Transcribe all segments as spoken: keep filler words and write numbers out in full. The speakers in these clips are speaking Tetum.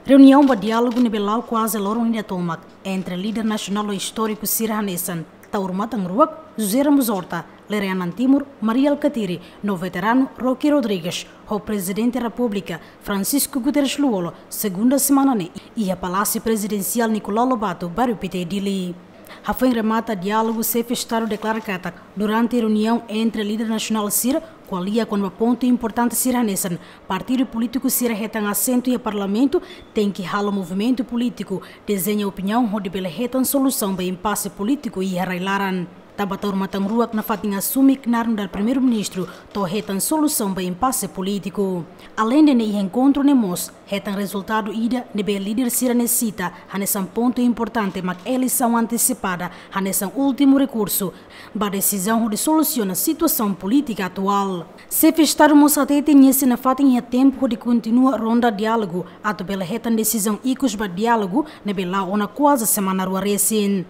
Reuniaun ba diálogu ne'ebé la'o kuaze loron ida tomak entre líder nasionál no istóriku sira hanesan Taur Matan Ruak, José Ramos Horta, Lere Anan Timur, Mari Alkatiri, no veteranu Roque Rodrigues, ho Prezidente Repúblika Francisco Guterres Lú-Olo, segunda semana ne'e, iha Palásiu Prezidensiál Nicolau Lobato, Bairru Pité, Dili. Hafoin remata diálogu, Xefe Estadu deklara katak durante reuniaun entre líder nasionál sira ko'alia kona-ba pontu importante sira hanesan partidu polítiku sira hetan asentu iha Parlamentu tenke halo movimentu polítiku, dezeña opiniaun hodi bele hetan solusaun ba impase polítiku iha rai-laran. Tanba Taur Matan Ruak nafatin asume knaar nu'udar Primeiru-Ministru to'o hetan solusaun ba impase polítiku. Aleinde ne'e, iha enkontru ne'e mós hetan rezultadu ida ne'ebé líder sira ne'e sita hanesan pontu importante mak eleisaun antesipada hanesan últimu rekursu ba desizaun hodi solusiona situasaun polítika atuál. Xefe Estadu mós hatete nia sei nafatin iha tempu hodi kontinua ronda diálogu atu bele hetan desizaun ikus ba diálogu ne'ebé la'o ona kuaze semana rua resin.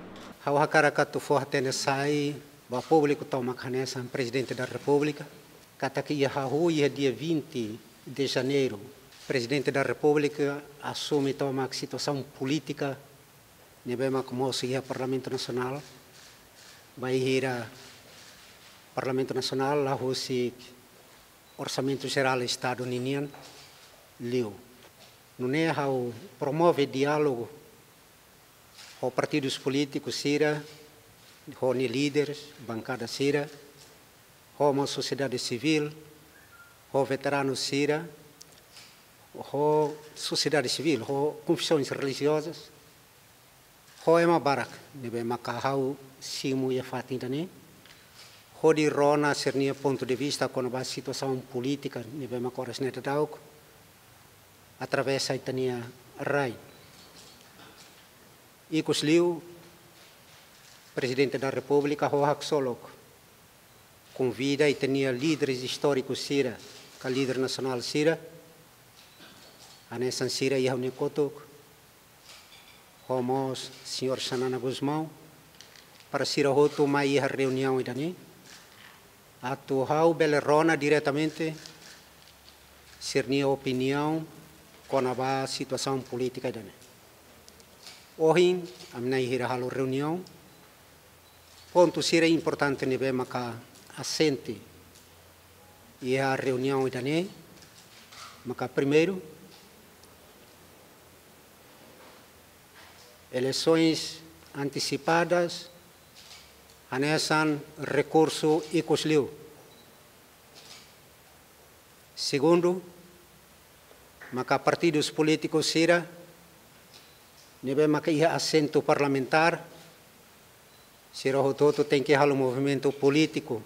Ha'u hakarak atu fó hatene sai ba públiku tomak hanesan Prezidente da Repúblika katak iha hahú iha dia vinte de Janeiro, Prezidente da Repúblika asume tomak situasaun polítika ne'ebé mak mosu iha Parlamentu Nasionál, bainhira Parlamentu Nasionál la husik Orsamentu Jerál Estadu ninian liu. Nune'e ha'u promove diálogu ho partidus polítikus sira, ho nia líderes, bankada sira, ho mós sosiedade sivíl, ho veteranu sira, ho sosiedade sivíl, ho konfesoens relijiozas, ho ema barak ne'ebé maka ha'u simu iha fatin ida-ne'e, hodi rona sira-nia pontu de vista kona-ba situasaun polítika ne'ebé maka oras ne'e daudaun atravesa ita-nia rai. Ikusliu, Prezidente da Repúblika ho haksolok konvida ita-nia líderes istórikus sira, ka líder nasionál sira, hanesan sira iha ha'u-nia kotuk, ho mós señór Xanana Gusmão, para sira hotu mai iha reuniaun ida-ne'e, atu ha'u bele rona diretamente sira-nia opiniaun kona-ba situasaun polítika ida-ne'e. Ohin, ami na'in hira halo reuniaun, pontu sira importante ne'ebé maka asente iha reuniaun ida-ne'e, maka primeiru, eleisoens antesipadas hanesan rekursu ikusliu. Segundu, maka partidus polítikus sira ne'ebé maka iha asentu parlamentár, sira hotu-hotu tenke halo movimentu polítiku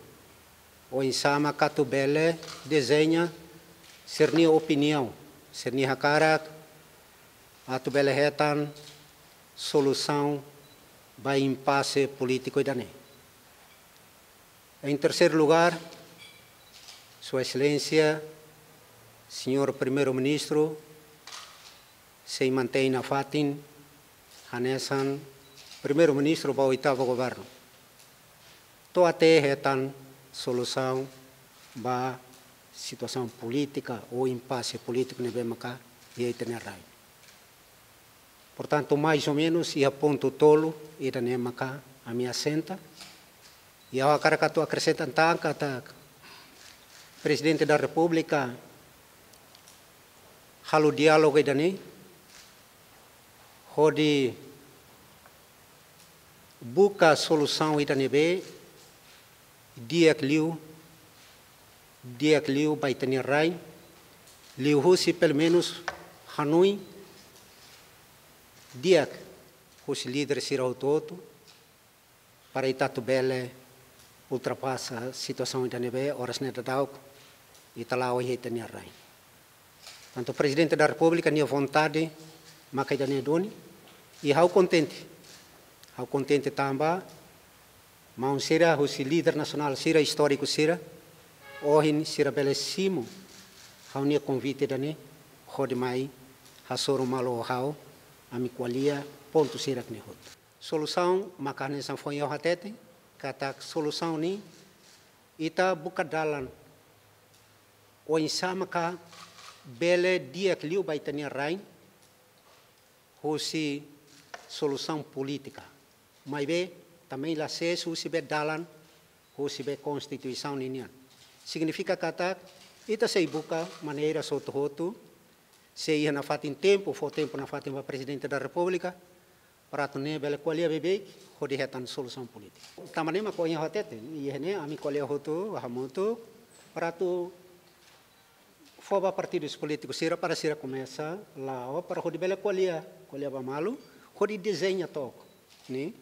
oinsá maka atu bele dezeña sira-nia opiniaun, sira-nia hakarak, atu bele hetan solusaun ba impase polítiku ida-ne'e. Em terceiro lugar, Sua Excelência, Señór Primeiru-Ministru, sei mantein nafatin hanesan Primeiru-Ministru ba oitavu governu, to'o até hetan solusaun ba situasaun polítika ou impase polítiku ne'ebé maka iha ita-nia rai. Portantu, mais ou menus, iha pontu tolu ida-ne'e maka ami asenta. I ha'u hakarak atu akresenta tan katak Prezidente da Repúblika halo diálogu ida-ne'e hodi buka solusaun ida ne'ebé di'ak liu, di'ak liu ba ita-nia rai, liuhusi pelumenus hanoin di'ak husi líder sira hotu-hotu, para ita atu bele ultrapasa situasaun ida ne'ebé oras ne'e daudaun ita la'o iha ita-nia rai. Tantu Prezidente da Repúblika nia vontade maka ida-ne'e duni, i ha'u kontente. Ha'u kontente tanba maun sira husi líder nasionál sira istóriku sira, ohin sira bele simu ha'u-nia konvite ida-ne'e hodi mai hasoru malu ho ha'u, ami ko'alia pontu sira-ne'e hotu. Solusaun maka hanesan foin ha'u hatete katak solusaun ne'e ita buka dalan oinsá maka bele di'ak liu ba ita-nia rain, husi solusaun polítika. Maibé, tanba la sees husi be dalan, husi be konstituisaun ninian. Signifika katak, ita sei buka maneira hotu-hotu, sei iha nafatin tempu, fó tempu nafatin ba Prezidente da Repúblika, para atu nune'e bele ko'alia beibeik, hodi hetan solusaun polítika. Tanba ne'e mak ohin ha'u hatete, iha ne'e ami ko'alia hotu, hamutuk, para atu fó ba partidus polítikus sira para sira komesa la'o para hodi bele ko'alia, ko'alia ba malu, hodi dezeña took, ne'e,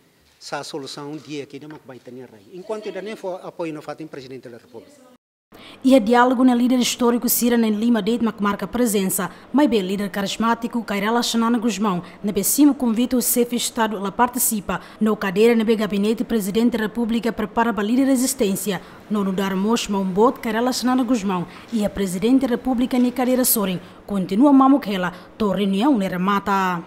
sá solusaun di'ak ida mak ba ita-nia rai. Enkuantu ida-ne'e fó apoiu nafatin Prezidente da Repúblika. Iha diálogu ne'e líder istóriku sira na'in-lima de'it mak marka prezensa, maibé líder karizmátiku Kay Rala Xanana Gusmão, ne'ebé simu konvite husi Xefe Estadu la partisipa, no kadeira ne'ebé Gabinete Prezidente Repúblika prepara ba líder rezisténsia, no nu'udar mós maun boot Kay Rala Xanana Gusmão iha Prezidente Repúblika nia kadeira sorin, kontinua mamuk hela to'o reuniaun ne'e remata.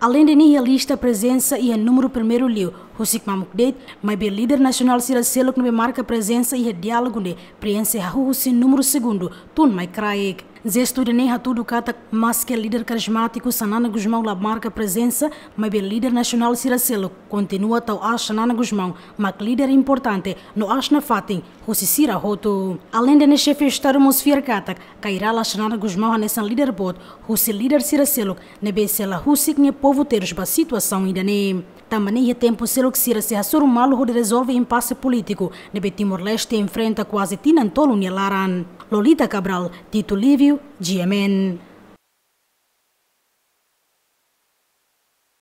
Aleinde ne'e iha lista prezensa iha númeru primeiru liu, husik mamuk de'it, maibé líder nasionál sira seluk ne'ebé marka prezensa iha diálogu ne'e preenxe hahú husi númeru segundu, tun mai kraik. Jestu ida-ne'e hatudu katak, maske líder karizmátiku Xanana Gusmão la marka prezensa, maibé líder nasionál sira seluk kontinua tau aas Xanana Gusmão mak líder importante no aas nafatin husi sira hotu. Aleinde ne'e Xefe Estadu mós fiar katak, Kay Rala Xanana Gusmão hanesan líder boot husi líder sira seluk ne'ebé sei la husik nia povu terus ba situasaun ida-ne'e. Tanba ne'e iha tempu seluk sira sei hasoru malu hodi rezolve impase polítiku ne'ebé Timor-Leste enfrenta kuaze tinan tolu nia laran. Lolita Cabral, Tito Lívio, G M N.